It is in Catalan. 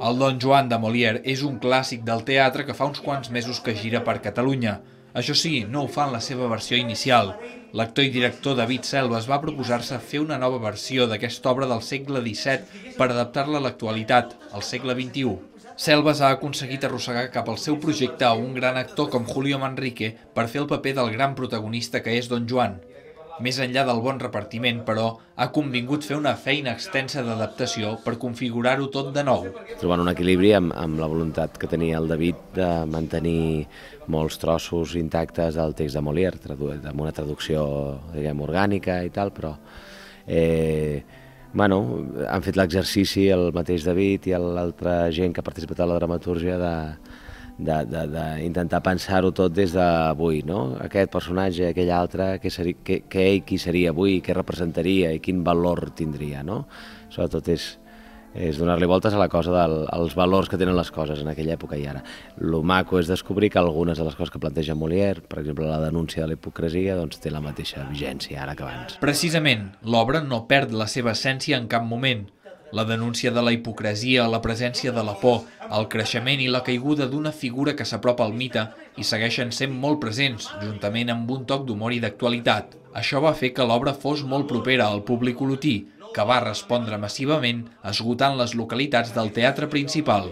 El Don Joan de Molière és un clàssic del teatre que fa uns quants mesos que gira per Catalunya. Això sí, no ho fa en la seva versió inicial. L'actor i director David Selves va proposar-se fer una nova versió d'aquesta obra del segle XVII per adaptar-la a l'actualitat, al segle XXI. Selves ha aconseguit arrossegar cap al seu projecte a un gran actor com Julio Manrique per fer el paper del gran protagonista que és Don Joan. Més enllà del bon repartiment, però, ha convingut fer una feina extensa d'adaptació per configurar-ho tot de nou. Trobant un equilibri amb la voluntat que tenia el David de mantenir molts trossos intactes del text de Molière, amb una traducció, diguem, orgànica i tal, però han fet l'exercici el mateix David i l'altra gent que ha participat a la dramatúrgia d'intentar pensar-ho tot des d'avui, no? Aquest personatge, aquell altre, què ell qui seria avui, què representaria i quin valor tindria, no? Sobretot és donar-li voltes a la cosa dels valors que tenen les coses en aquella època i ara. Lo maco és descobrir que algunes de les coses que planteja Molière, per exemple la denúncia de la hipocresia, doncs té la mateixa vigència ara que abans. Precisament, l'obra no perd la seva essència en cap moment. La denúncia de la hipocresia, la presència de la por, el creixement i la caiguda d'una figura que s'apropa al mite i segueixen sent molt presents, juntament amb un toc d'humor i d'actualitat. Això va fer que l'obra fos molt propera al públic olotí, que va respondre massivament esgotant les localitats del teatre principal.